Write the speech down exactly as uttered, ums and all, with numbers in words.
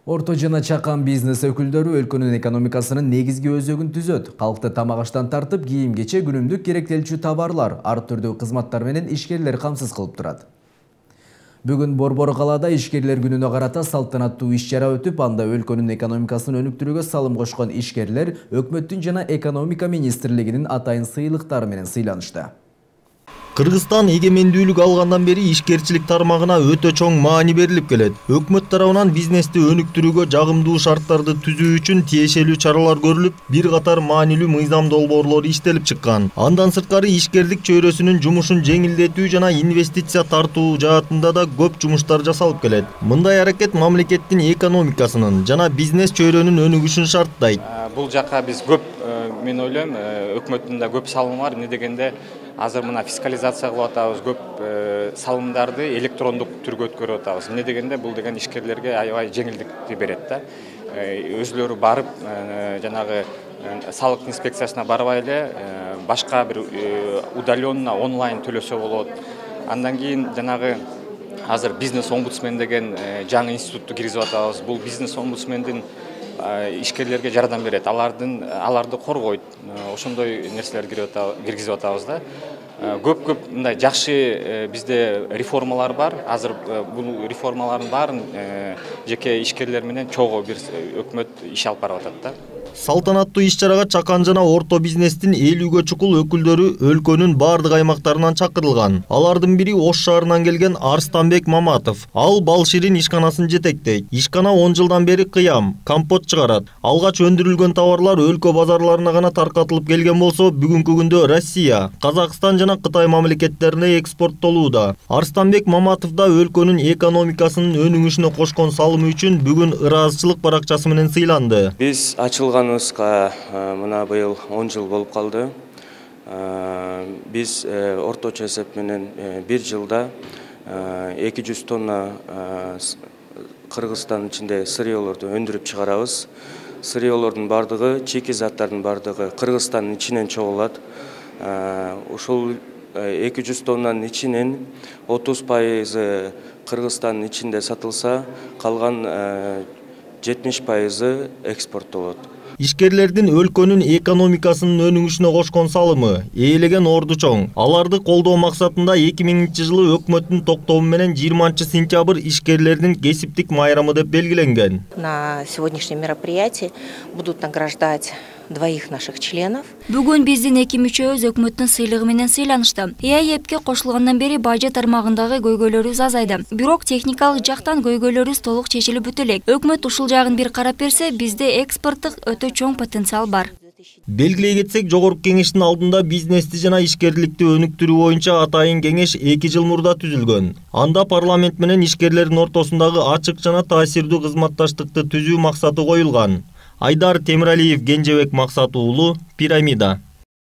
Орто жана чакан бизнес өкүлдөрү өлкөнүн экономикасынын негизги өзөгүн түзөт. Калкты тамак аштан тартып, кийим-кече, күнүмдүк керектелчү товарлар, ар түрдүү кызматтар менен ишкерлер камсыз кылып турат. Бүгүн Борбор калаада ишкерлер күнүнө карата салтанаттуу иш-чара өтүп, анда өлкөнүн экономикасын өнүктүрүүгө салым кошкон ишкерлер өкмөттүн жана экономика министрлигинин атайын сыйлыктары менен сыйланышты. Кыргызстан эгемендүүлүк алгандан бери ишкерчилик тармагына өтө чоң маани берилип келет. Өкмөт тарабынан бизнести өнүктүрүүгө жагымдуу шарттарды түзүү үчүн тиешелүү чаралар көрүлүп, бир катар маанилүү мыйзам долбоорлор иштелип чыккан. Андан сырткары ишкерлик чөйрөсүнүн жумушун жеңилдетүү жана инвестиция тартуу жаатында да көп жумуштар жасалып келет. Мындай аракет мамлекеттин экономикасынын жана бизнес чөйрөнүн өнүгүшүн шарттайт. Бул жакка биз көп, мен ойлойм, өкмөттүн да көп салымы бар. Эмне дегенде азыр мына фискализация кылып атабыз, көп салымдарды электрондук түргө өткөрүп атабыз. Эмне дегенде бул деген ишкерлерге аябай жеңилдикти берет да. Өзүлөрү барып, жанагы салык инспекциясына барбай эле башка бир удаленно онлайн төлөсө болот. Андан кийин жанагы азыр бизнес омбудсмен деген жаңы институтту киргизип атабыз. Бул бизнес омбудсмендин ишкерлерге жардам берет, алардын аларды коргойт. Ошондой нерселер киргизип атабыз да. Көп-көп мындай жакшы бизде реформалар бар. Азыр бул реформалардын баарын жеке ишкерлер менен чогуу бир өкмөт иш алып барып атат да. Салтанаттуу иш-чарага чакан жана орто бизнестин элүүгө чукул өкүлдөрү өлкөнүн бардык аймактарынан чакырылган. Алардын бири Ош шаарынан келген Арстанбек Маматов. Ал бал ширин ишканасын жетектейт. Ишкана он жылдан бери кыям, компот чыгарат. Алгач өндүрүлгөн товарлар өлкө базарларына гана таркатылып келген болсо, бүгүнкү күндө Россия, Казакстан жана Кытай мамлекеттерине экспорттолууда. Арстанбек Маматов да өлкөнүн экономикасынын өнүгүшүнө кошкон салымы үчүн бүгүн ыраазычылык баракчасы менен сыйланды. Биз ачылганыбызга мына быйыл он жыл болуп калды. Биз орточо эсеп менен бир жылда эки жүз тонна Кыргызстан ичинде сырьёлорду өндүрүп чыгарабыз. Сырьёлордун бардыгы, чеки заттардын бардыгы Кыргызстандын ичинен чогулат. Ушул эки жүз тоннанын ичинен отуз пайызы Кыргызстандын ичинде сатылса, калган жетимиш пайызы экспорттолот. Ишкерлердин өлкөнүн экономикасынын өнүгүшүнө кошкон салымы ээлеген орду чоң. Аларды колдоо максатында эки миңинчи жылы өкмөттүн токтому менен жыйырманчы сентябрь ишкерлердин кесиптик майрамы деп белгиленген. На сегодняшнем мероприятии будут награждать двоих наших членов. Бүгүн биздин эки мүчөбүз өкмөттүн сыйлыгы менен сыйланышты. ЭАЭПке кошулгандан бери бажы тармагындагы көйгөйлөрүбүз азайды. Бирок техникалык жактан көйгөйлөрүбүз толук чечилип бүтө элек. Өкмөт ушул жагын бир карап берсе, бизде экспорттук өтө чоң потенциал бар. Белгилей кетсек, жогорку кеңештин алдында бизнести жана ишкерликти өнүктүрүү боюнча атайын кеңеш эки жыл мурда түзүлгөн. Анда парламент менен ишкерлердин ортосундагы ачык жана таасирдүү кызматташтыкты түзүү максаты коюлган. Айдар Темиралиев, Кенжебек Максат уулу, Пирамида.